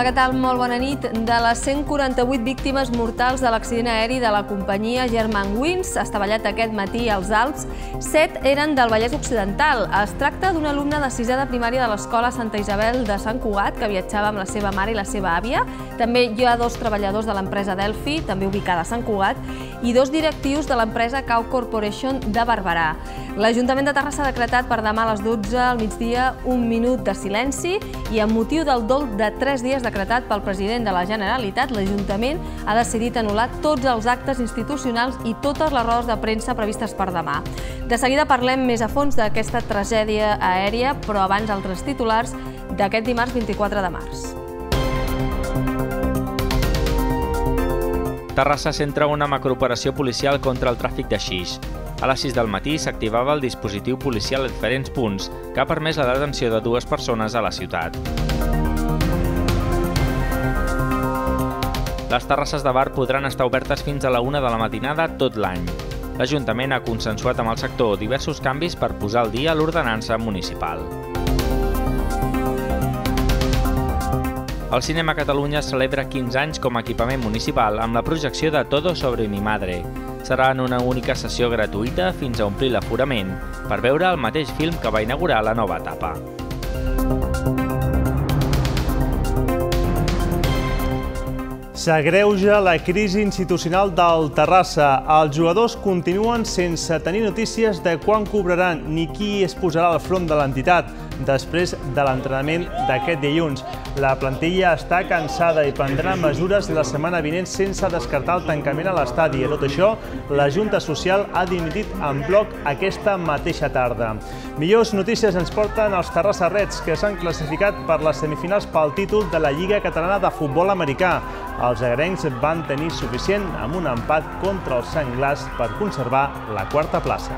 què tal? Molt bona nit. De les 148 víctimes mortals de l'accident aeri de la companyia Germanwings estavellat aquest matí als Alps, 7 eren del Vallès Occidental. Es tracta d'un alumne de 6è de primària de l'Escola Santa Isabel de Sant Cugat que viatjava amb la seva mare i la seva àvia. També hi ha 2 treballadors de l'empresa Delphi, també ubicada a Sant Cugat, i 2 directius de l'empresa Cow Corporation de Barberà. L'Ajuntament de Terrassa ha decretat per demà a les 12 al migdia un minut de silenci i amb motiu del dol de 3 dies decretat pel president de la Generalitat, l'Ajuntament ha decidit anul·lar tots els actes institucionals i totes les rodes de premsa previstes per demà. De seguida parlem més a fons d'aquesta tragèdia aèria, però abans altres titulars d'aquest dimarts 24 de març. Terrassa centra una macrooperació policial contra el tràfic de xix. A les 6 del matí s'activava el dispositiu policial a diferents punts que ha permès la detenció de 2 persones a la ciutat. Les terrasses de bar podran estar obertes fins a la 1 de la matinada tot l'any. L'Ajuntament ha consensuat amb el sector diversos canvis per posar al dia l'ordenança municipal. El Cinema Catalunya celebra 15 anys com a equipament municipal amb la projecció de Todo sobre mi madre. Serà en una única sessió gratuïta fins a omplir l'aforament per veure el mateix film que va inaugurar la nova etapa. S'agreuja la crisi institucional del Terrassa. Els jugadors continuen sense tenir notícies de quan cobraran ni qui es posarà al front de l'entitat després de l'entrenament d'aquest dilluns. La plantilla està cansada i prendrà mesures la setmana vinent sense descartar el tancament a l'estadi. A tot això, la Junta Social ha dimitit en bloc aquesta mateixa tarda. Millors notícies ens porten els Terrassa Reds, que s'han classificat per les semifinals pel títol de la Lliga Catalana de Futbol Americà. Els agrencs van tenir suficient amb un empat contra els Senglars per conservar la 4a plaça.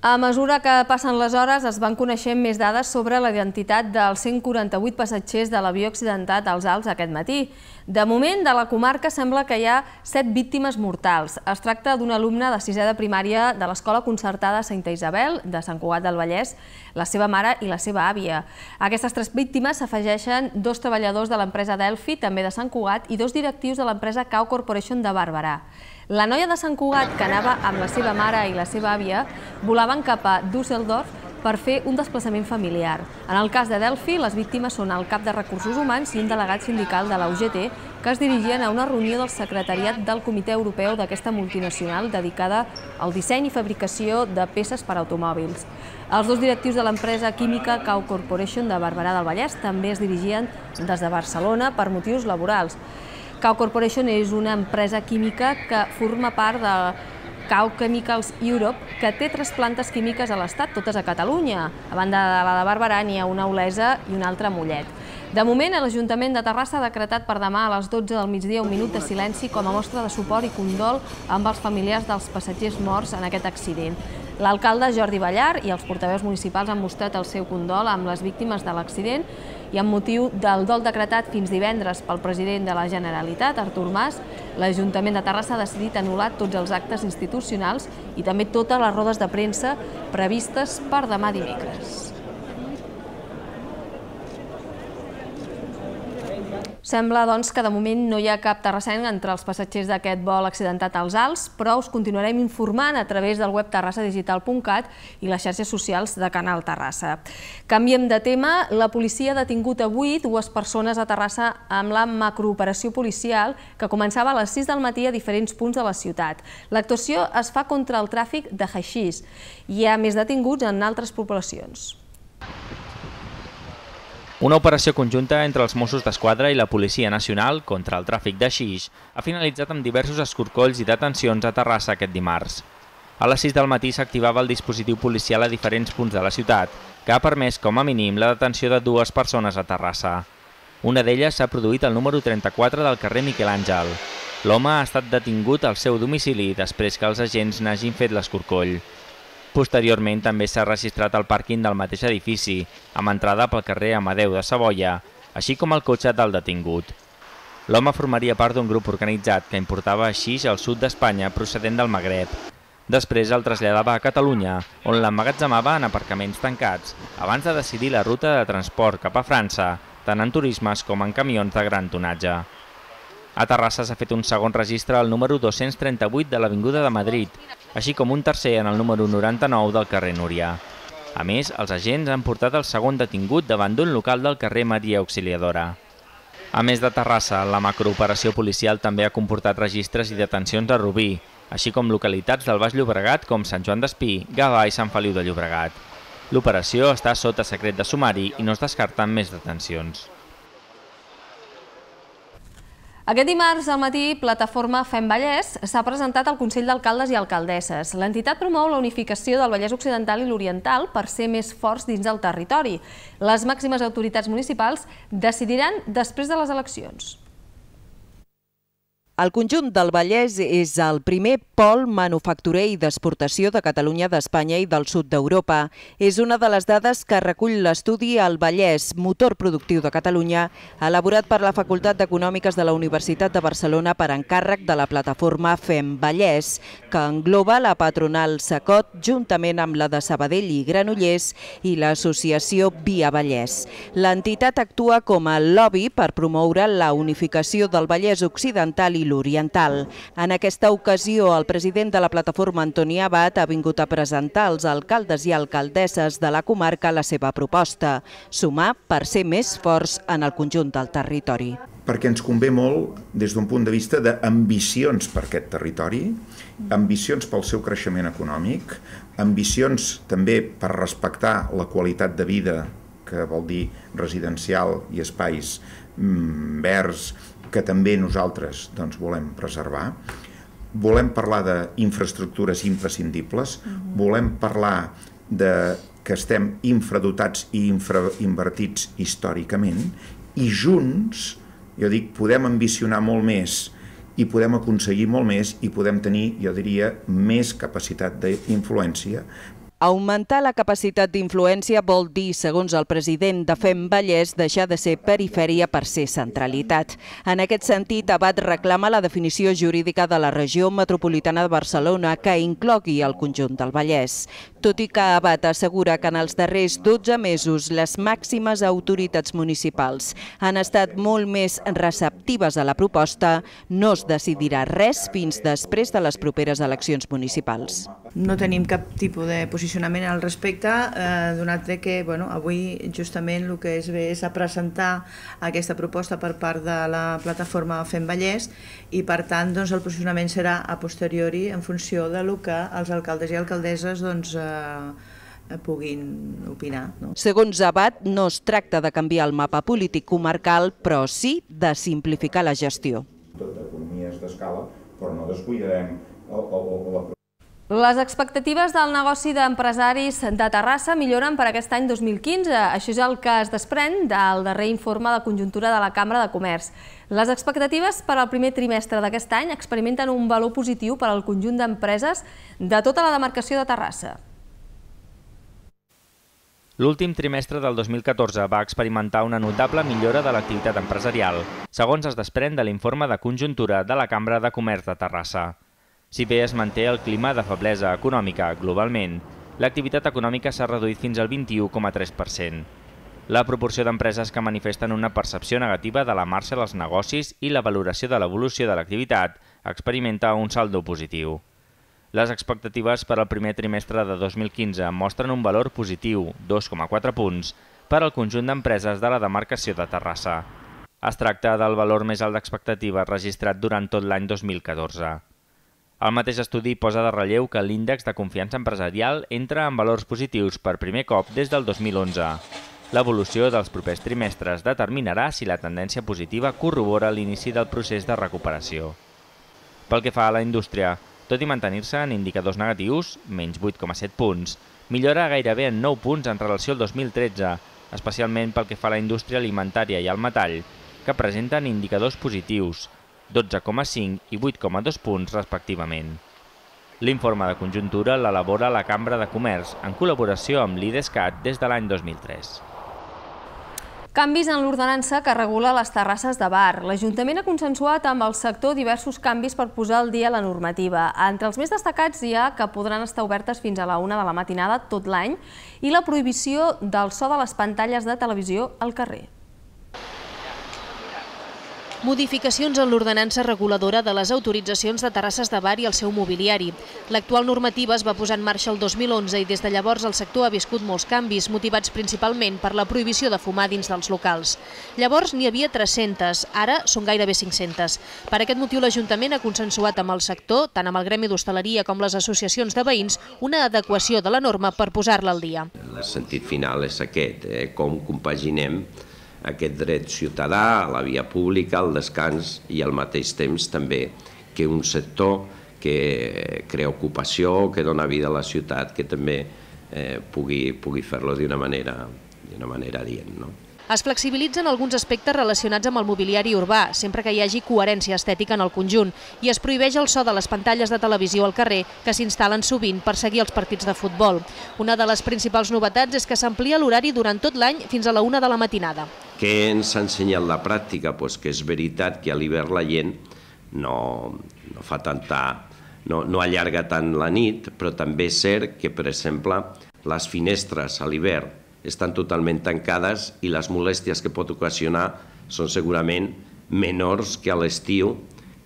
A mesura que passen les hores es van coneixent més dades sobre la identitat dels 148 passatgers de l'avió accidentat als Alps aquest matí. De moment, de la comarca sembla que hi ha 7 víctimes mortals. Es tracta d'un alumne de 6è de primària de l'Escola Concertada Santa Isabel de Sant Cugat del Vallès, la seva mare i la seva àvia. A aquestes 3 víctimes s'afegeixen 2 treballadors de l'empresa Delphi, també de Sant Cugat, i 2 directius de l'empresa Cow Corporation de Barberà. La noia de Sant Cugat, que anava amb la seva mare i la seva àvia, volaven cap a Düsseldorf per fer un desplaçament familiar. En el cas de Delphi, les víctimes són el cap de Recursos Humans i un delegat sindical de la UGT que es dirigien a una reunió del secretariat del Comitè Europeu d'aquesta multinacional dedicada al disseny i fabricació de peces per a automòbils. Els 2 directius de l'empresa química Cow Corporation de Barberà del Vallès també es dirigien des de Barcelona per motius laborals. Cow Corporation és una empresa química que forma part de Cow Chemicals Europe, que té 3 plantes químiques a l'Estat, totes a Catalunya. A banda de la de Barberà n'hi ha una a Olesa i una altra a Mollet. De moment, l'Ajuntament de Terrassa ha decretat per demà a les 12 del migdia un minut de silenci com a mostra de suport i condol amb els familiars dels passatgers morts en aquest accident. L'alcalde Jordi Ballar i els portaveus municipals han mostrat el seu condol amb les víctimes de l'accident i amb motiu del dol decretat fins divendres pel president de la Generalitat, Artur Mas, l'Ajuntament de Terrassa ha decidit anul·lar tots els actes institucionals i també totes les rodes de premsa previstes per demà dimecres. Sembla, doncs, que de moment no hi ha cap terrassenc entre els passatgers d'aquest vol accidentat als Alps, però us continuarem informant a través del web terrassadigital.cat i les xarxes socials de Canal Terrassa. Canviem de tema. La policia ha detingut avui 2 persones a Terrassa amb la macrooperació policial que començava a les 6 del matí a diferents punts de la ciutat. L'actuació es fa contra el tràfic de haixís. Hi ha més detinguts en altres poblacions. Una operació conjunta entre els Mossos d'Esquadra i la Policia Nacional contra el tràfic de xix ha finalitzat amb diversos escorcolls i detencions a Terrassa aquest dimarts. A les 6 del matí s'activava el dispositiu policial a diferents punts de la ciutat, que ha permès com a mínim la detenció de 2 persones a Terrassa. Una d'elles s'ha produït al número 34 del carrer Miquel Àngel. L'home ha estat detingut al seu domicili després que els agents n'hagin fet l'escorcoll. Posteriorment també s'ha registrat el pàrquing del mateix edifici, amb entrada pel carrer Amadeu de Savoia, així com el cotxe del detingut. L'home formaria part d'un grup organitzat que importava haixix al sud d'Espanya procedent del Magreb. Després el traslladava a Catalunya, on l'emmagatzemava en aparcaments tancats, abans de decidir la ruta de transport cap a França, tant en turismes com en camions de gran tonatge. A Terrassa s'ha fet un segon registre al número 238 de l'Avinguda de Madrid, així com un tercer en el número 99 del carrer Núria. A més, els agents han portat el segon detingut davant d'un local del carrer Maria Auxiliadora. A més de Terrassa, la macrooperació policial també ha comportat registres i detencions a Rubí, així com localitats del Baix Llobregat com Sant Joan d'Espí, Gavà i Sant Feliu de Llobregat. L'operació està sota secret de sumari i no es descarten més detencions. Aquest dimarts al matí, Plataforma Fem Vallès s'ha presentat al Consell d'Alcaldes i Alcaldesses. L'entitat promou la unificació del Vallès Occidental i l'Oriental per ser més forts dins del territori. Les màximes autoritats municipals decidiran després de les eleccions. El conjunt del Vallès és el primer pol manufacturer i d'exportació de Catalunya, d'Espanya i del sud d'Europa. És una de les dades que recull l'estudi El Vallès, motor productiu de Catalunya, elaborat per la Facultat d'Econòmiques de la Universitat de Barcelona per encàrrec de la plataforma Fem Vallès, que engloba la patronal Sacot juntament amb la de Sabadell i Granollers i l'associació Via Vallès. L'entitat actua com a lobby per promoure la unificació del Vallès Occidental i l'Oriental. En aquesta ocasió, el president de la plataforma, Antoni Abad, ha vingut a presentar als alcaldes i alcaldesses de la comarca la seva proposta, sumar per ser més forts en el conjunt del territori. Perquè ens convé molt des d'un punt de vista d'ambicions per aquest territori, ambicions pel seu creixement econòmic, ambicions també per respectar la qualitat de vida, que vol dir residencial i espais verds, que també nosaltres volem preservar. Volem parlar d'infraestructures imprescindibles, volem parlar que estem infradotats i infrainvertits històricament, i junts, jo dic, podem ambicionar molt més i podem aconseguir molt més i podem tenir, jo diria, més capacitat d'influència. Augmentar la capacitat d'influència vol dir, segons el president de Fem Vallès, deixar de ser perifèria per ser centralitat. En aquest sentit, Abad reclama la definició jurídica de la regió metropolitana de Barcelona que inclogui el conjunt del Vallès. Tot i que Abad assegura que en els darrers 12 mesos les màximes autoritats municipals han estat molt més receptives a la proposta, no es decidirà res fins després de les properes eleccions municipals. No tenim cap tipus de posicionament al respecte, donat que avui justament el que es ve és a presentar aquesta proposta per part de la plataforma Fem Vallès i per tant el posicionament serà a posteriori en funció del que els alcaldes i alcaldesses puguin opinar. Segons Abad, no es tracta de canviar el mapa polític comarcal, però sí de simplificar la gestió. Tot economies d'escala, però no descuidarem la... Les expectatives del negoci d'empresaris de Terrassa milloren per aquest any 2015. Això és el que es desprèn del darrer informe de conjuntura de la Cambra de Comerç. Les expectatives per al primer trimestre d'aquest any experimenten un valor positiu per al conjunt d'empreses de tota la demarcació de Terrassa. L'últim trimestre del 2014 va experimentar una notable millora de l'activitat empresarial, segons es desprèn de l'informe de conjuntura de la Cambra de Comerç de Terrassa. Si bé es manté el clima de feblesa econòmica globalment, l'activitat econòmica s'ha reduït fins al 21,3%. La proporció d'empreses que manifesten una percepció negativa de la marxa dels negocis i la valoració de l'evolució de l'activitat experimenta un saldo positiu. Les expectatives per al primer trimestre de 2015 mostren un valor positiu, 2,4 punts, per al conjunt d'empreses de la demarcació de Terrassa. Es tracta del valor més alt d'expectativa registrat durant tot l'any 2014. El mateix estudi posa de relleu que l'índex de confiança empresarial entra en valors positius per primer cop des del 2011. L'evolució dels propers trimestres determinarà si la tendència positiva corrobora l'inici del procés de recuperació. Pel que fa a la indústria, tot i mantenir-se en indicadors negatius, menys 8,7 punts, millora gairebé en 9 punts en relació al 2013, especialment pel que fa a la indústria alimentària i al metall, que presenten indicadors positius, 12,5 i 8,2 punts respectivament. L'informe de conjuntura l'elabora la Cambra de Comerç en col·laboració amb l'IDESCAT des de l'any 2003. Canvis en l'ordenança que regula les terrasses de bar. L'Ajuntament ha consensuat amb el sector diversos canvis per posar al dia la normativa. Entre els més destacats hi ha que podran estar obertes fins a la 1 de la matinada tot l'any i la prohibició del so de les pantalles de televisió al carrer. Modificacions en l'ordenança reguladora de les autoritzacions de terrasses de bar i el seu mobiliari. L'actual normativa es va posar en marxa el 2011 i des de llavors el sector ha viscut molts canvis, motivats principalment per la prohibició de fumar dins dels locals. Llavors n'hi havia 300, ara són gairebé 500. Per aquest motiu l'Ajuntament ha consensuat amb el sector, tant amb el gremi d'hostaleria com les associacions de veïns, una adequació de la norma per posar-la al dia. El sentit final és aquest, com compaginem aquest dret ciutadà a la via pública, al descans i al mateix temps també que un sector que crea ocupació, que dona vida a la ciutat, que també pugui fer-lo d'una manera adient. Es flexibilitzen alguns aspectes relacionats amb el mobiliari urbà, sempre que hi hagi coherència estètica en el conjunt, i es prohibeix el so de les pantalles de televisió al carrer que s'instal·len sovint per seguir els partits de futbol. Una de les principals novetats és que s'amplia l'horari durant tot l'any fins a la 1 de la matinada. Què ens ha ensenyat la pràctica? Que és veritat que a l'hivern la gent no allarga tant la nit, però també és cert que, per exemple, les finestres a l'hivern estan totalment tancades i les molèsties que pot ocasionar són segurament menors que a l'estiu,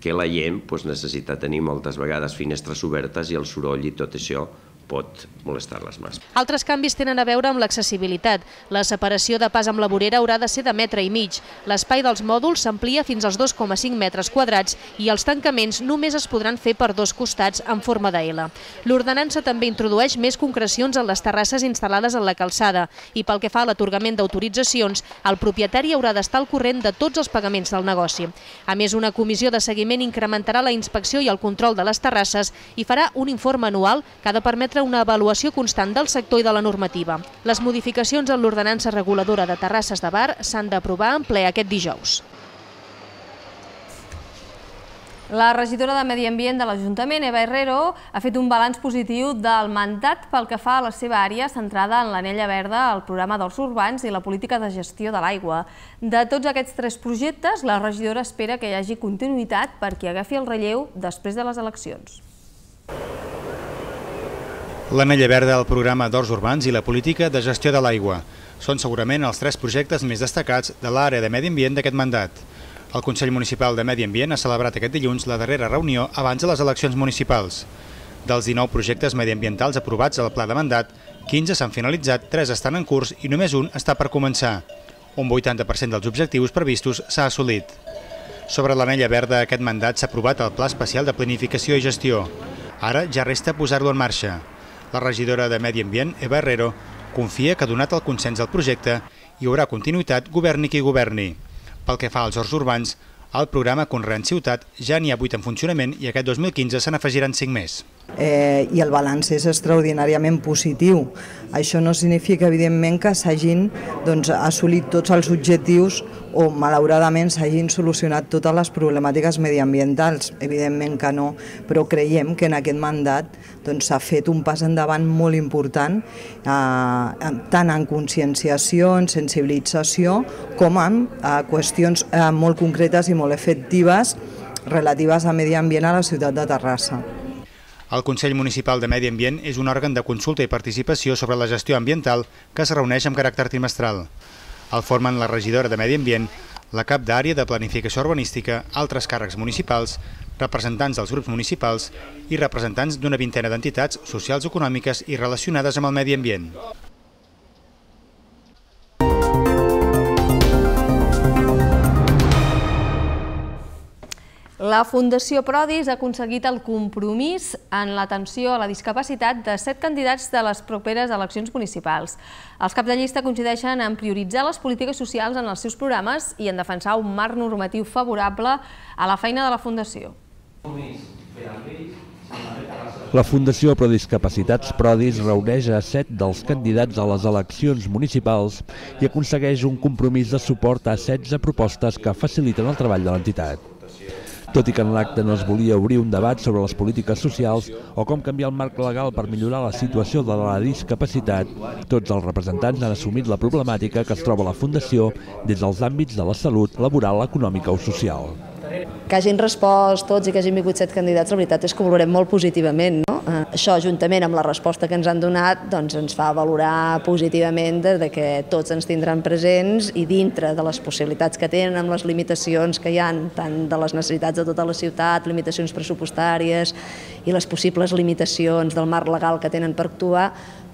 que la gent necessita tenir moltes vegades finestres obertes i el soroll i tot això pot molestar-les més. Altres canvis tenen a veure amb l'accessibilitat. La separació de pas amb la vorera haurà de ser de 1,5 metres. L'espai dels mòduls s'amplia fins als 2,5 metres quadrats i els tancaments només es podran fer per dos costats en forma de L. L'ordenança també introdueix més concrecions en les terrasses instal·lades en la calçada i pel que fa a l'atorgament d'autoritzacions, el propietari haurà d'estar al corrent de tots els pagaments del negoci. A més, una comissió de seguiment incrementarà la inspecció i el control de les terrasses i farà un informe anual que ha de permetre una avaluació constant del sector i de la normativa. Les modificacions en l'ordenança reguladora de terrasses de bar s'han d'aprovar en ple aquest dijous. La regidora de Medi Ambient de l'Ajuntament, Eva Herrero, ha fet un balanç positiu del mandat pel que fa a la seva àrea centrada en l'anella verda, el programa d'horts urbans i la política de gestió de l'aigua. De tots aquests 3 projectes, la regidora espera que hi hagi continuïtat perquè agafi el relleu després de les eleccions. L'anella verda, el programa d'horts urbans i la política de gestió de l'aigua són segurament els 3 projectes més destacats de l'àrea de Medi Ambient d'aquest mandat. El Consell Municipal de Medi Ambient ha celebrat aquest dilluns la darrera reunió abans de les eleccions municipals. Dels 19 projectes mediambientals aprovats al pla de mandat, 15 s'han finalitzat, 3 estan en curs i només un està per començar. Un 80% dels objectius previstos s'ha assolit. Sobre l'anella verda, aquest mandat s'ha aprovat el Pla Especial de Planificació i Gestió. Ara ja resta posar-lo en marxa. La regidora de Medi Ambient, Eva Herrero, confia que donat el consens al projecte hi haurà continuïtat governi qui governi. Pel que fa als horts urbans, al programa Conreant Ciutat ja n'hi ha 8 en funcionament i aquest 2015 se n'afegiran 5 més. I el balanç és extraordinàriament positiu. Això no significa, evidentment, que s'hagin assolit tots els objectius o, malauradament, s'hagin solucionat totes les problemàtiques mediambientals. Evidentment que no, però creiem que en aquest mandat s'ha fet un pas endavant molt important, tant en conscienciació, en sensibilització, com en qüestions molt concretes i molt efectives relatives a medi ambient a la ciutat de Terrassa. El Consell Municipal de Medi Ambient és un òrgan de consulta i participació sobre la gestió ambiental que es reuneix amb caràcter trimestral. El formen la regidora de Medi Ambient, la cap d'àrea de planificació urbanística, altres càrrecs municipals, representants dels grups municipals i representants d'una vintena d'entitats socials, econòmiques i relacionades amb el medi ambient. La Fundació Prodis ha aconseguit el compromís en l'atenció a la discapacitat de 7 candidats de les properes eleccions municipals. Els caps de llista coincideixen en prioritzar les polítiques socials en els seus programes i en defensar un marc normatiu favorable a la feina de la Fundació. La Fundació Prodiscapacitats Prodis reuneix a 7 dels candidats a les eleccions municipals i aconsegueix un compromís de suport a 16 propostes que faciliten el treball de l'entitat. Tot i que en l'acte no es volia obrir un debat sobre les polítiques socials o com canviar el marc legal per millorar la situació de la discapacitat, tots els representants han assumit la problemàtica que es troba a la Fundació des dels àmbits de la salut, laboral, econòmica o social. Que hagin respost tots i que hagin vingut 7 candidats, la veritat és que ho valorem molt positivament. Això, juntament amb la resposta que ens han donat, ens fa valorar positivament que tots ens tindran presents i dintre de les possibilitats que tenen, amb les limitacions que hi ha, tant de les necessitats de tota la ciutat, limitacions pressupostàries i les possibles limitacions del marc legal que tenen per actuar,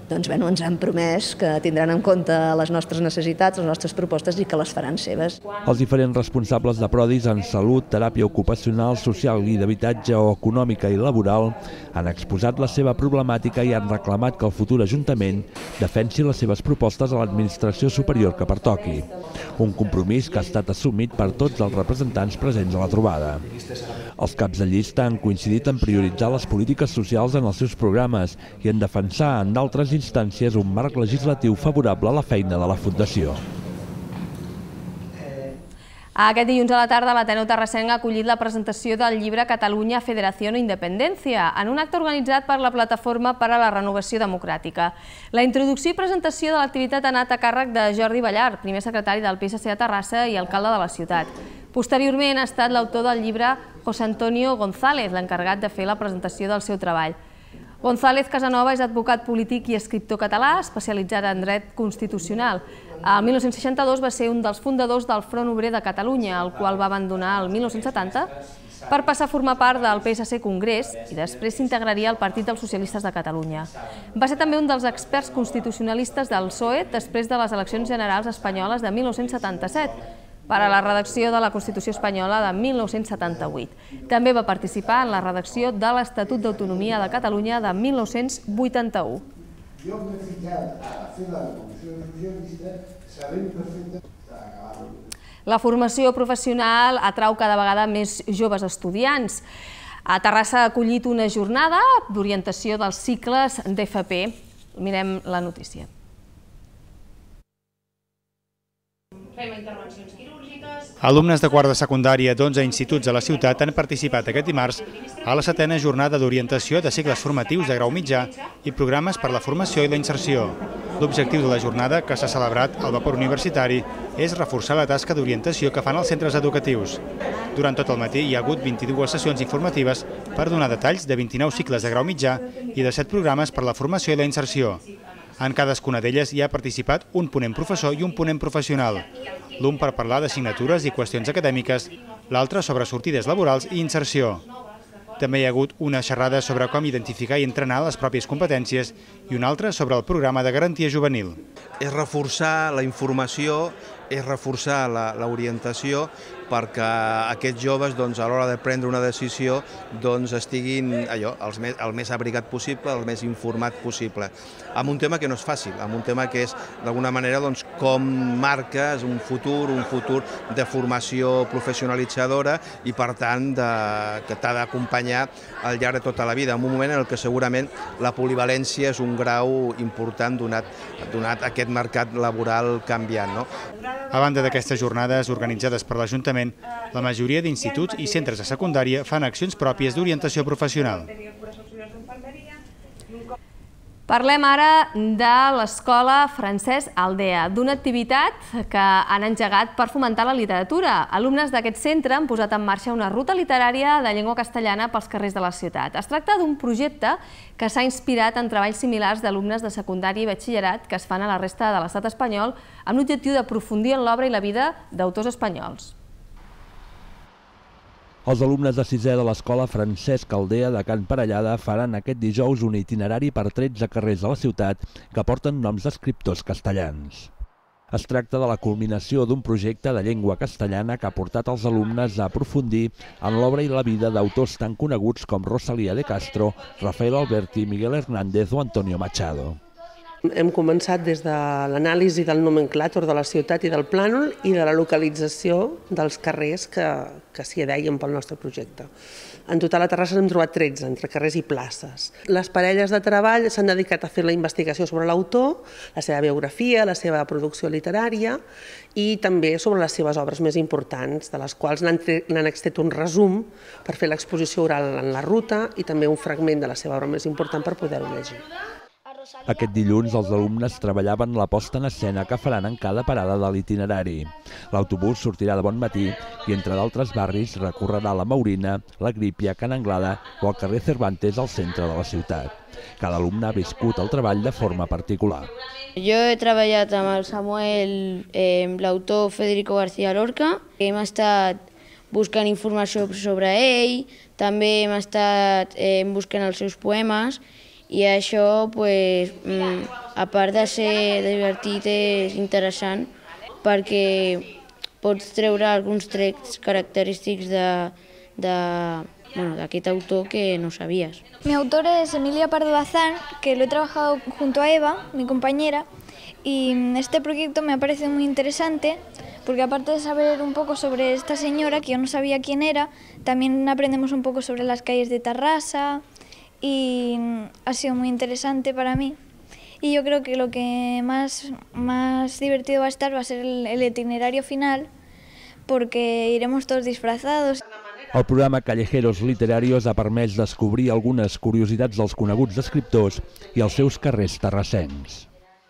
ens han promès que tindran en compte les nostres necessitats, les nostres propostes i que les faran seves. Els diferents responsables de Prodis en salut, teràpia ocupacional, social i d'habitatge o econòmica i laboral han exposat la seva problemàtica i han reclamat que el futur Ajuntament defensi les seves propostes a l'administració superior que pertoqui. Un compromís que ha estat assumit per tots els representants presents a la trobada. Els caps de llista han coincidit en prioritzar les polítiques socials en els seus programes i en defensar en d'altres instàncies un marc legislatiu favorable a la feina de la Fundació. Aquest dilluns a la tarda l'Ateneu Terrassenc ha acollit la presentació del llibre Catalunya, Federació o Independència en un acte organitzat per la Plataforma per a la Renovació Democràtica. La introducció i presentació de l'activitat ha anat a càrrec de Jordi Ballart, primer secretari del PSC a Terrassa i alcalde de la ciutat. Posteriorment ha estat l'autor del llibre José Antonio González, l'encarregat de fer la presentació del seu treball. González Casanova és advocat polític i escriptor català, especialitzat en dret constitucional. El 1962 va ser un dels fundadors del Front Obrer de Catalunya, el qual va abandonar el 1970 per passar a formar part del PSC Congrés i després s'integraria al Partit dels Socialistes de Catalunya. Va ser també un dels experts constitucionalistes del PSOE després de les eleccions generals espanyoles de 1977, per a la redacció de la Constitució espanyola de 1978. També va participar en la redacció de l'Estatut d'Autonomia de Catalunya de 1981. Jo m'he ficat a fer la Constitució Socialista sabent perfectament. La formació professional atrau cada vegada més joves estudiants. A Terrassa ha acollit una jornada d'orientació dels cicles d'FP. Mirem la notícia. Fem intervencions quirúrgiques. Alumnes de quart de secundària d'11 instituts de la ciutat han participat aquest dimarts a la 7a jornada d'orientació de cicles formatius de grau mitjà i programes per la formació i la inserció. L'objectiu de la jornada, que s'ha celebrat al vapor universitari, és reforçar la tasca d'orientació que fan els centres educatius. Durant tot el matí hi ha hagut 22 sessions informatives per donar detalls de 29 cicles de grau mitjà i de 7 programes per la formació i la inserció. En cadascuna d'elles hi ha participat un ponent professor i un ponent professional, l'un per parlar d'assignatures i qüestions acadèmiques, l'altre sobre sortides laborals i inserció. També hi ha hagut una xerrada sobre com identificar i entrenar les pròpies competències i una altra sobre el programa de garantia juvenil. És reforçar la informació, és reforçar l'orientació perquè aquests joves a l'hora de prendre una decisió estiguin el més abrigat possible, el més informat possible. Amb un tema que no és fàcil, amb un tema que és d'alguna manera com marques un futur de formació professionalitzadora i per tant que t'ha d'acompanyar al llarg de tota la vida, en un moment en què segurament la polivalència és un grau important donat aquest mercat laboral canviant. A banda d'aquestes jornades organitzades per l'Ajuntament, la majoria d'instituts i centres de secundària fan accions pròpies d'orientació professional. Parlem ara de l'Escola Francesc Aldea, d'una activitat que han engegat per fomentar la literatura. Alumnes d'aquest centre han posat en marxa una ruta literària de llengua castellana pels carrers de la ciutat. Es tracta d'un projecte que s'ha inspirat en treballs similars d'alumnes de secundària i batxillerat que es fan a la resta de l'estat espanyol amb l'objectiu d'aprofundir en l'obra i la vida d'autors espanyols. Els alumnes de 6è de l'Escola Francesc Aldea de Can Parellada faran aquest dijous un itinerari per 13 carrers de la ciutat que porten noms d'escriptors castellans. Es tracta de la culminació d'un projecte de llengua castellana que ha portat els alumnes a aprofundir en l'obra i la vida d'autors tan coneguts com Rosalía de Castro, Rafael Alberti, Miguel Hernández o Antonio Machado. Hem començat des de l'anàlisi del nomenclàtor de la ciutat i del plànol i de la localització dels carrers que s'hi deien pel nostre projecte. En total a Terrassa n'hem trobat 13, entre carrers i places. Les parelles de treball s'han dedicat a fer la investigació sobre l'autor, la seva biografia, la seva producció literària i també sobre les seves obres més importants, de les quals n'han extret un resum per fer l'exposició oral en la ruta i també un fragment de la seva obra més important per poder-ho llegir. Aquest dilluns els alumnes treballaven la posta en escena que faran en cada parada de l'itinerari. L'autobús sortirà de bon matí i entre d'altres barris recorrerà la Maurina, la Grípia, Can Anglada o el carrer Cervantes al centre de la ciutat. Cada alumne ha viscut el treball de forma particular. Jo he treballat amb el Samuel, l'autor Federico García Lorca. Hem estat buscant informació sobre ell, també hem estat buscant els seus poemes i això, a part de ser divertit, és interessant perquè pots treure alguns trets característics d'aquest autor que no sabías. Mi autor es Emilia Pardo Bazán, que lo he trabajado junto a Eva, mi compañera, y este proyecto me ha parecido muy interesante porque aparte de saber un poco sobre esta señora, que yo no sabía quién era, también aprendemos un poco sobre las calles de Tarrasa y ha sido muy interesante para mí. Y yo creo que lo que más divertido va a estar va a ser el itinerario final, porque iremos todos disfrazados. El programa Callejeros Literarios ha permès descobrir algunes curiositats dels coneguts escriptors i els seus carrers terrassens.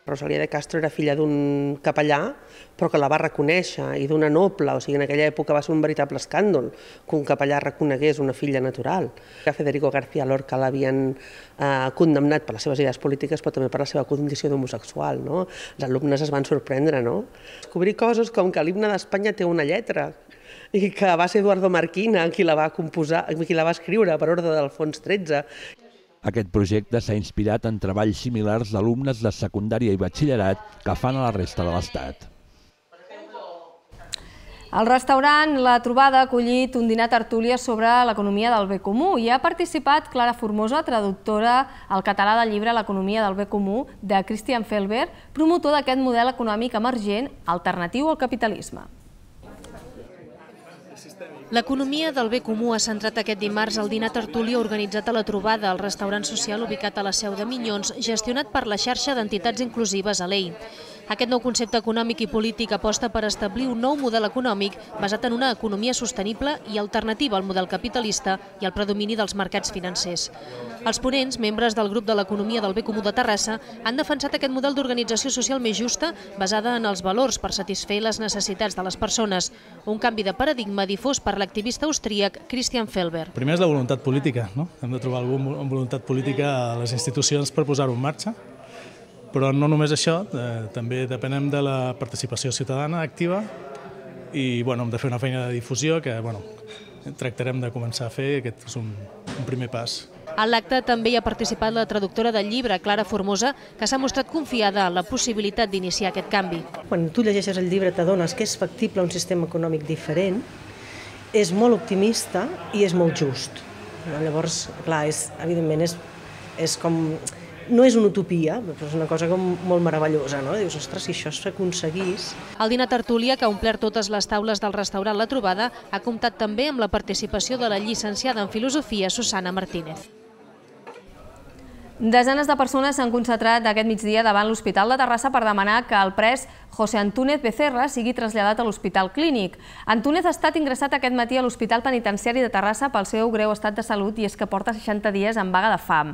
Rosalía de Castro era filla d'un capellà, però que la va reconèixer, i d'una noble, o sigui, en aquella època va ser un veritable escàndol que un capellà reconegués una filla natural. A Federico García Lorca l'havien condemnat per les seves idees polítiques, però també per la seva condició d'homosexual. Els alumnes es van sorprendre, no? Descobrir coses com que l'himne d'Espanya té una lletra, i que va ser Eduardo Marquina qui la va composar, qui la va escriure per ordre d'Alfons XIII. Aquest projecte s'ha inspirat en treballs similars d'alumnes de secundària i batxillerat que fan a la resta de l'Estat. El restaurant La Trobada ha acollit un dinar tertúlia sobre l'economia del bé comú i ha participat Clara Formosa, traductora al català del llibre L'economia del bé comú de Christian Felber, promotor d'aquest model econòmic emergent alternatiu al capitalisme. L'economia del bé comú ha centrat aquest dimarts el dinar tertúlia organitzat a La Trobada, el restaurant social ubicat a la Seu de Minyons, gestionat per la xarxa d'entitats inclusives ALEI. Aquest nou concepte econòmic i polític aposta per establir un nou model econòmic basat en una economia sostenible i alternativa al model capitalista i al predomini dels mercats financers. Els ponents, membres del grup de l'economia del bé comú de Terrassa, han defensat aquest model d'organització social més justa basada en els valors per satisfer les necessitats de les persones, un canvi de paradigma difós per l'activista austríac Christian Felber. Primer és la voluntat política, no? Hem de trobar algú amb voluntat política a les institucions per posar-ho en marxa. Però no només això, també depenem de la participació ciutadana activa i hem de fer una feina de difusió que tractarem de començar a fer, aquest és un primer pas. A l'acte també hi ha participat la traductora del llibre, Clara Formosa, que s'ha mostrat confiada en la possibilitat d'iniciar aquest canvi. Quan tu llegeixes el llibre t'adones que és factible un sistema econòmic diferent, és molt optimista i és molt just. Llavors, clar, evidentment és com... No és una utopia, però és una cosa molt meravellosa, no? Dius, ostres, si això s'aconseguís... El dinar tertúlia, que ha omplert totes les taules del restaurant La Trobada, ha comptat també amb la participació de la llicenciada en Filosofia, Susana Martínez. Desenes de persones s'han concentrat aquest migdia davant l'Hospital de Terrassa per demanar que el pres José Antúnez Becerra sigui traslladat a l'Hospital Clínic. Antúnez ha estat ingressat aquest matí a l'Hospital Penitenciari de Terrassa pel seu greu estat de salut i és que porta 60 dies en vaga de fam.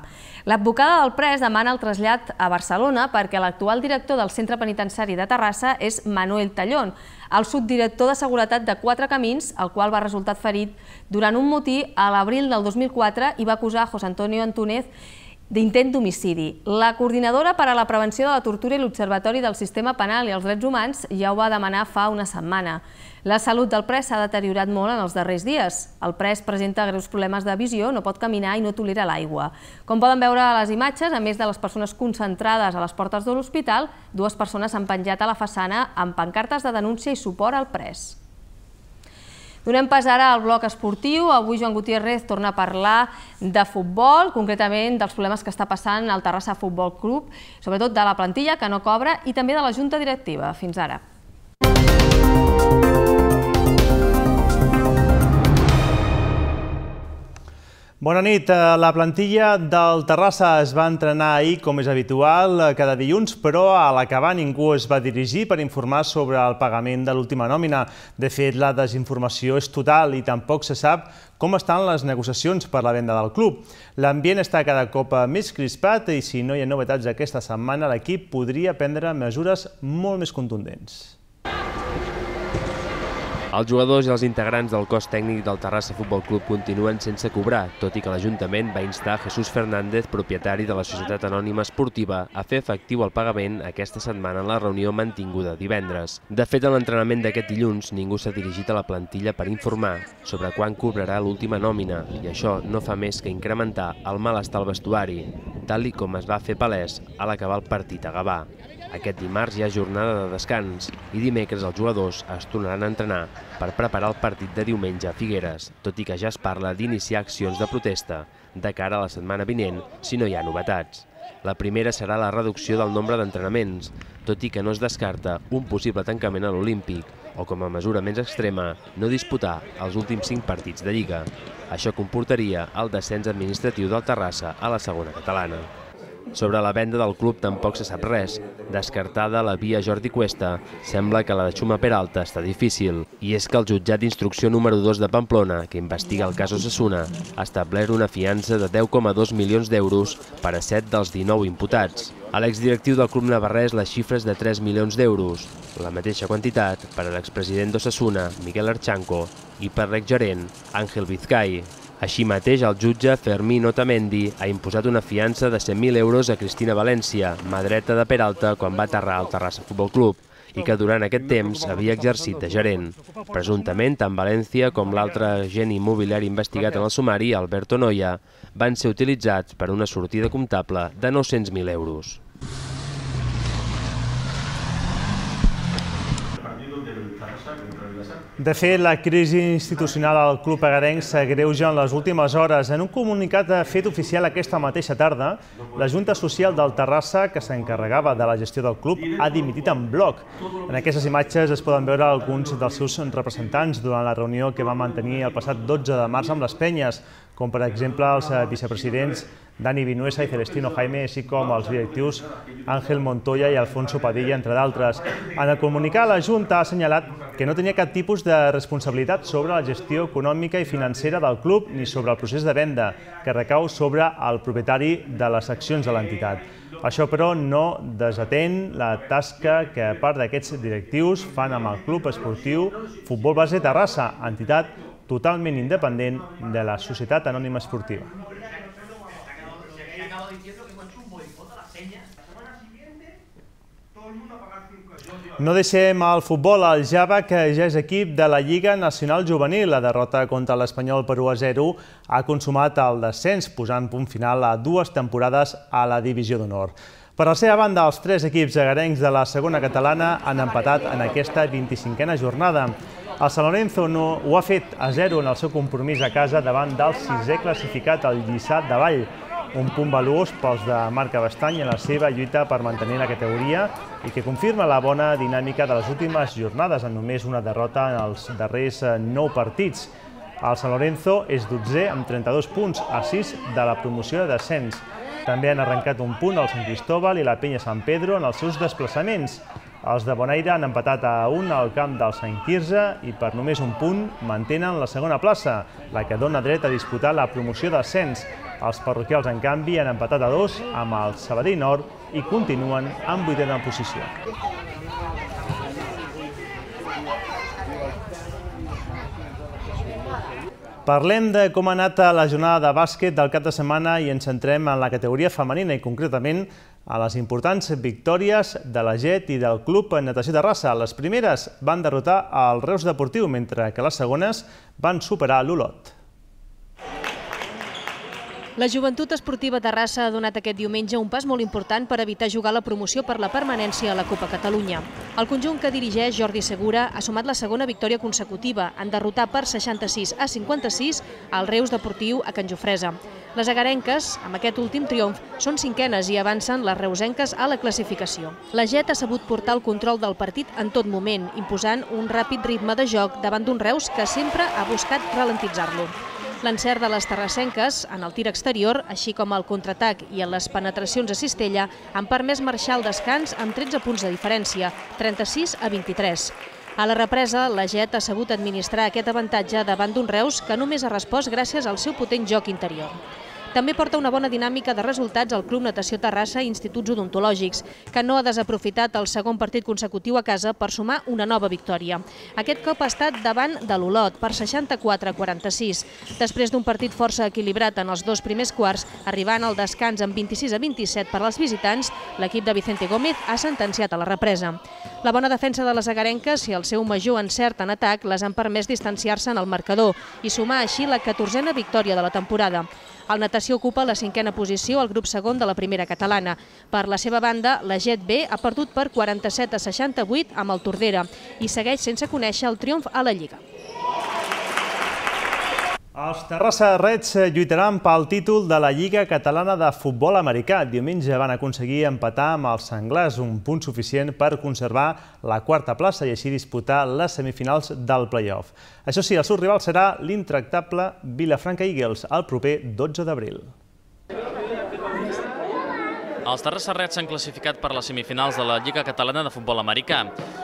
L'advocada del pres demana el trasllat a Barcelona perquè l'actual director del Centre Penitenciari de Terrassa és Manuel Tallón, el subdirector de Seguretat de Quatre Camins, el qual va resultar ferit durant un motí a l'abril del 2004 i va acusar José Antonio Antúnez d'intent d'homicidi. La coordinadora per a la prevenció de la tortura i l'Observatori del Sistema Penal i els Drets Humans ja ho va demanar fa una setmana. La salut del pres s'ha deteriorat molt en els darrers dies. El pres presenta greus problemes de visió, no pot caminar i no tolera l'aigua. Com poden veure a les imatges, a més de les persones concentrades a les portes de l'hospital, dues persones s'han penjat a la façana amb pancartes de denúncia i suport al pres. Donem pas ara al bloc esportiu. Avui Joan Gutiérrez torna a parlar de futbol, concretament dels problemes que està passant al Terrassa Futbol Club, sobretot de la plantilla que no cobra i també de la junta directiva. Fins ara. Bona nit. La plantilla del Terrassa es va entrenar ahir, com és habitual, cada dilluns, però a l'acabar ningú es va dirigir per informar sobre el pagament de l'última nòmina. De fet, la desinformació és total i tampoc se sap com estan les negociacions per la venda del club. L'ambient està cada cop més crispat i si no hi ha novetats aquesta setmana, l'equip podria prendre mesures molt més contundents. Els jugadors i els integrants del cos tècnic del Terrassa Futbol Club continuen sense cobrar, tot i que l'Ajuntament va instar Jesús Fernández, propietari de la Societat Anònima Esportiva, a fer efectiu el pagament aquesta setmana en la reunió mantinguda divendres. De fet, en l'entrenament d'aquest dilluns, ningú s'ha dirigit a la plantilla per informar sobre quan cobrarà l'última nòmina, i això no fa més que incrementar el malestar al vestuari, tal com es va fer palès a l'acabar el partit a Gavà. Aquest dimarts hi ha jornada de descans i dimecres els jugadors es tornaran a entrenar per preparar el partit de diumenge a Figueres, tot i que ja es parla d'iniciar accions de protesta de cara a la setmana vinent si no hi ha novetats. La primera serà la reducció del nombre d'entrenaments, tot i que no es descarta un possible tancament a l'Olímpic o, com a mesura més extrema, no disputar els últims 5 partits de Lliga. Això comportaria el descens administratiu del Terrassa a la segona catalana. Sobre la venda del club tampoc se sap res. Descartada la via Jordi Cuesta, sembla que la de Xuma Peralta està difícil. I és que el jutjat d'instrucció número 2 de Pamplona, que investiga el cas Osasuna, ha establert una fiança de 10,2 milions d'euros per a 7 dels 19 imputats. A l'exdirectiu del club navarrès les xifres de 3 milions d'euros, la mateixa quantitat per a l'expresident d'Osasuna, Miquel Archanco, i per l'exgerent, Àngel Vizcay. Així mateix, el jutge Fermín Otamendi ha imposat una fiança de 100.000 euros a Cristina València, mà dreta de Peralta quan va aterrar al Terrassa Futbol Club, i que durant aquest temps havia exercit de gerent. Presumptament, tant València com l'altre agent immobiliari investigat en el sumari, Alberto Noia, van ser utilitzats per una sortida comptable de 900.000 euros. De fet, la crisi institucional al club agarenc s'agreuja en les últimes hores. En un comunicat fet oficial aquesta mateixa tarda, la Junta Social del Terrassa, que s'encarregava de la gestió del club, ha dimitit en bloc. En aquestes imatges es poden veure alguns dels seus representants durant la reunió que va mantenir el passat 12 de març amb les penyes, com per exemple els vicepresidents Dani Vinuesa i Celestino Jaime, així com els directius Ángel Montoya i Alfonso Padilla, entre d'altres. En el comunicat, la Junta ha assenyalat que no tenia cap tipus de responsabilitat sobre la gestió econòmica i financera del club ni sobre el procés de venda, que recau sobre el propietari de les accions de l'entitat. Això, però, no desatén la tasca que part d'aquests directius fan amb el Club Esportiu Futbol Base Terrassa, entitat totalment independent de la Societat Anònima Esportiva. No deixem el futbol. El Java, que ja és equip de la Lliga Nacional Juvenil, la derrota contra l'Espanyol per 1-0 ha consumat el descens, posant punt final a 2 temporades a la Divisió d'Honor. Per la seva banda, els 3 equips agarencs de la segona catalana han empatat en aquesta 25a jornada. El San Lorenzo ho ha fet a 0 en el seu compromís a casa davant del 6è classificat, el Lliçà de Vall. Un punt valuós pels de Marc Abastany en la seva lluita per mantenir la categoria i que confirma la bona dinàmica de les últimes jornades, amb només una derrota en els darrers 9 partits. El San Lorenzo és 12è amb 32 punts, a 6 de la promoció de descens. També han arrencat un punt el Sant Cristóbal i la Penya Sant Pedro en els seus desplaçaments. Els de Bonaire han empatat a 1 al camp del Sant Quirze i per només un punt mantenen la segona plaça, la que dona dret a disputar la promoció d'ascens. Els parroquials, en canvi, han empatat a 2 amb el Sabadell Nord i continuen en 8a posició. Parlem de com ha anat la jornada de bàsquet del cap de setmana i ens centrem en la categoria femenina i concretament a les importants victòries de la GET i del Club Natació Terrassa. Les primeres van derrotar el Reus Deportiu, mentre que les segones van superar l'Olot. La Joventut Esportiva Terrassa ha donat aquest diumenge un pas molt important per evitar jugar la promoció per la permanència a la Copa Catalunya. El conjunt que dirigeix Jordi Segura ha sumat la segona victòria consecutiva en derrotar per 66-56 el Reus Deportiu a Can Jofresa. Les agarenques, amb aquest últim triomf, són 5enes i avancen les reusenques a la classificació. La GET ha sabut portar el control del partit en tot moment, imposant un ràpid ritme de joc davant d'un Reus que sempre ha buscat ralentitzar-lo. L'encert de les terrassenques en el tir exterior, així com el contraatac i en les penetracions a cistella, han permès marxar al descans amb 13 punts de diferència, 36 a 23. A la represa, la Jet ha sabut administrar aquest avantatge davant d'un Reus que només ha respost gràcies al seu potent joc interior. També porta una bona dinàmica de resultats al Club Natació Terrassa i Instituts Odontològics, que no ha desaprofitat el segon partit consecutiu a casa per sumar una nova victòria. Aquest cop ha estat davant de l'Olot per 64-46. Després d'un partit força equilibrat en els dos primers quarts, arribant al descans amb 26-27 per als visitants, l'equip de Vicente Gómez ha sentenciat a la represa. La bona defensa de les agarenques i el seu major encert en atac les han permès distanciar-se en el marcador i sumar així la 14a victòria de la temporada. El Natació ocupa la 5a posició al grup segon de la primera catalana. Per la seva banda, la Jet B ha perdut per 47-68 amb el Tordera i segueix sense conèixer el triomf a la Lliga. Els Terrassa Reds lluitaran pel títol de la Lliga Catalana de Futbol Americà. Diumenge van aconseguir empatar amb els Senglars, un punt suficient per conservar la quarta plaça i així disputar les semifinals del play-off. Això sí, el seu rival serà l'intractable Vilafranca Eagles el proper 12 d'abril. Els Terrassa Reds s'han classificat per les semifinals de la Lliga Catalana de Futbol Americà.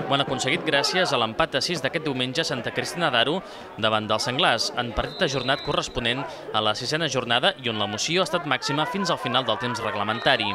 Ho han aconseguit gràcies a l'empat a 6 d'aquest diumenge a Santa Cristina d'Aro davant dels Senglars, en partit ajornat corresponent a la 6a jornada i on l'emoció ha estat màxima fins al final del temps reglamentari.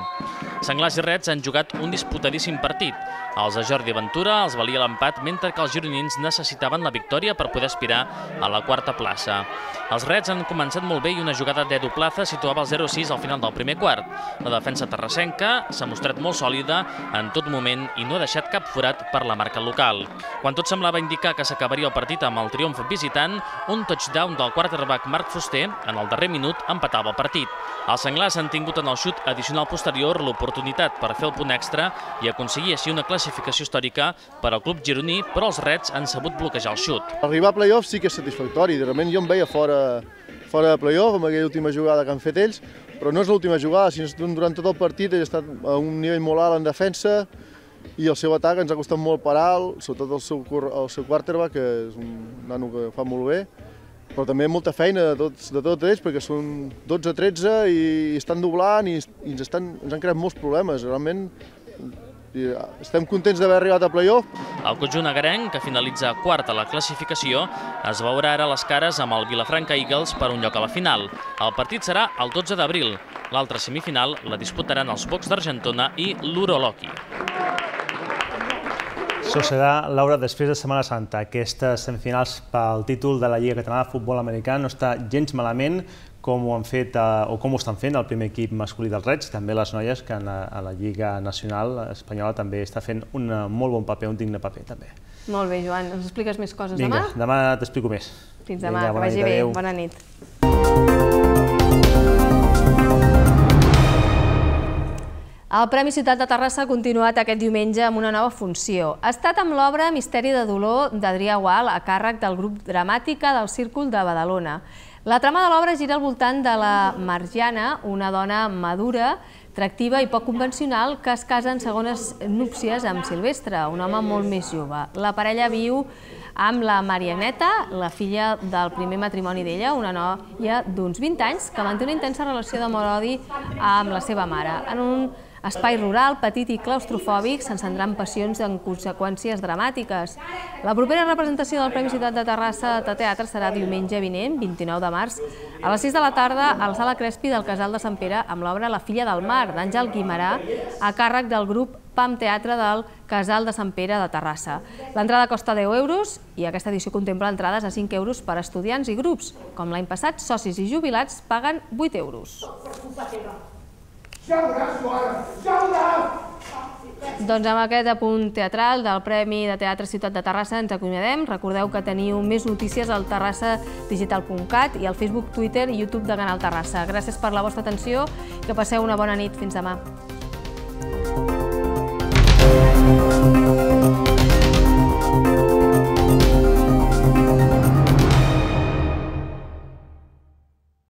Senglars i Reds han jugat un disputadíssim partit. Els de Jordi Ventura els valia l'empat, mentre que els gironins necessitaven la victòria per poder aspirar a la quarta plaça. Els Reds han començat molt bé i una jugada d'Edu Plaza situava el 0-6 al final del primer quart. La defensa terrassenca s'ha mostrat molt sòlida en tot moment i no ha deixat cap forat per la marca local. Quan tot semblava indicar que s'acabaria el partit amb el triomf visitant, un touchdown del quarterback Marc Fuster en el darrer minut empatava el partit. Els Senglars han tingut en el xut addicional posterior l'oportunitat per fer el punt extra i aconseguir així una classificació històrica per al club gironí, però els Reds han sabut bloquejar el xut. Arribar a play-off sí que és satisfactori, realment jo em veia fora de play-off amb aquella última jugada que han fet ells, però no és l'última jugada, sinó durant tot el partit ell ha estat a un nivell molt alt en defensa i el seu atac ens ha costat molt parar, sobretot el seu quarterback, que és un nano que fa molt bé, però també molta feina de tots ells, perquè són 12-13 i estan doblant i ens han creat molts problemes. Realment estem contents d'haver arribat a play-off. El conjunt agarenc, que finalitza quart a la classificació, es veurà ara les cares amb el Vilafranca Eagles per un lloc a la final. El partit serà el 12 d'abril. L'altra semifinal la disputaran els Bocs d'Argentona i l'Uroloki. Això serà, Laura, després de Setmana Santa. Aquestes semifinals pel títol de la Lliga Catalana de Futbol Americà no està gens malament com ho han fet o com ho estan fent el primer equip masculí dels Reds, també les noies que a la Lliga Nacional Espanyola també està fent un molt bon paper, un digne paper també. Molt bé, Joan. Ens expliques més coses demà? Vinga, demà t'explico més. Fins demà, que vagi bé. Bona nit. El Premi Ciutat de Terrassa ha continuat aquest diumenge amb una nova funció. Ha estat amb l'obra Misteri de dolor d'Adrià Gual a càrrec del grup Dramàtica del Círcul de Badalona. La trama de l'obra gira al voltant de la Marjana, una dona madura, atractiva i poc convencional que es casa en segones núpcies amb Silvestre, un home molt més jove. La parella viu amb la Marianeta, la filla del primer matrimoni d'ella, una noia d'uns 20 anys que manté una intensa relació d'amor-odi amb la seva mare. En un espai rural, petit i claustrofòbic, s'encendran passions amb conseqüències dramàtiques. La propera representació del Premi Ciutat de Terrassa de teatre serà diumenge vinent, 29 de març, a les 6 de la tarda a la Sala Crespi del Casal de Sant Pere amb l'obra La filla del mar, d'Àngel Guimarà, a càrrec del grup PAM Teatre del Casal de Sant Pere de Terrassa. L'entrada costa 10 euros i aquesta edició contempla entrades a 5 euros per a estudiants i grups. Com l'any passat, socis i jubilats paguen 8 euros. Doncs amb aquest apunt teatral del Premi de Teatre Ciutat de Terrassa ens acomiadem. Recordeu que teniu més notícies al terrassadigital.cat i al Facebook, Twitter i YouTube de Canal Terrassa. Gràcies per la vostra atenció i que passeu una bona nit. Fins demà.